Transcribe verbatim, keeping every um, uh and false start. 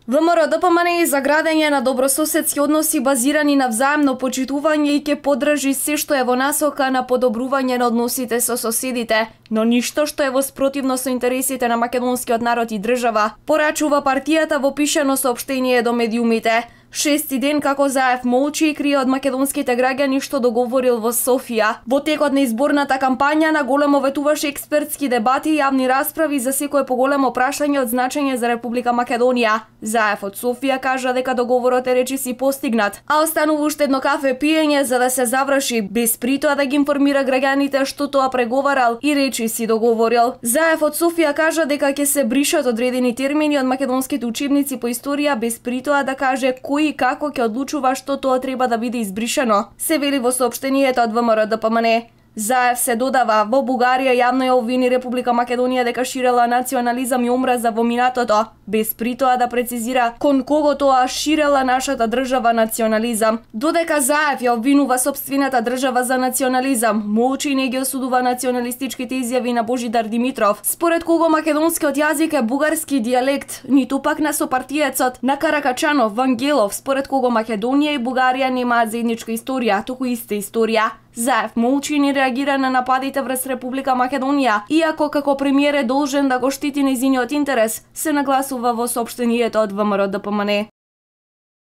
ВМРО-ДПМН за градење на добрососедски односи базирани на взаемно почитување и ќе поддржи се што е во насока на подобрување на односите со соседите, но ништо што е во спротивно со интересите на македонскиот народ и држава, порачува партијата во пишано соопштение до медиумите. Шести ден како Заев молчи и крие од македонските граѓани што договорил во Софија. Во текот на изборната кампања на големо ветуваше експертски дебати и јавни расправи за секое поголемо прашање од значење за Република Македонија. Заев од Софија кажа дека договорот е речиси постигнат, а останува уште едно кафе пиење за да се заврши, без притоа да ги информира граѓаните што тоа преговарал и речиси договорил. Заев од Софија кажа дека ќе се бришат одредени термини од македонските учебници по историја, без притоа да каже кој и како ќе одлучува што тоа треба да биде избришано, се вели во соопштението од ВМРО-ДПМН. Заев се додава, во Бугарија јавно ја обвини Република Македонија дека ширела национализам и омраза во минатото, без притоа да прецизира кон кого тоа ширела нашата држава национализам. Додека Заев ја обвинува сопствената држава за национализам, молчи и не ги осудува националистичките изјави на Божидар Димитров, според кого македонскиот јазик е бугарски дијалект, ниту пак на сопартиецот на Каракачанов Вангелов, според кого Македонија и Бугарија немаат заедничка историја, туку иста историја. Заев молчи и не реагира на нападите врз Република Македонија, иако како премиер е должен да го штити нејзиниот интерес, се нагласува во соопштението од ВМРО-ДПМН.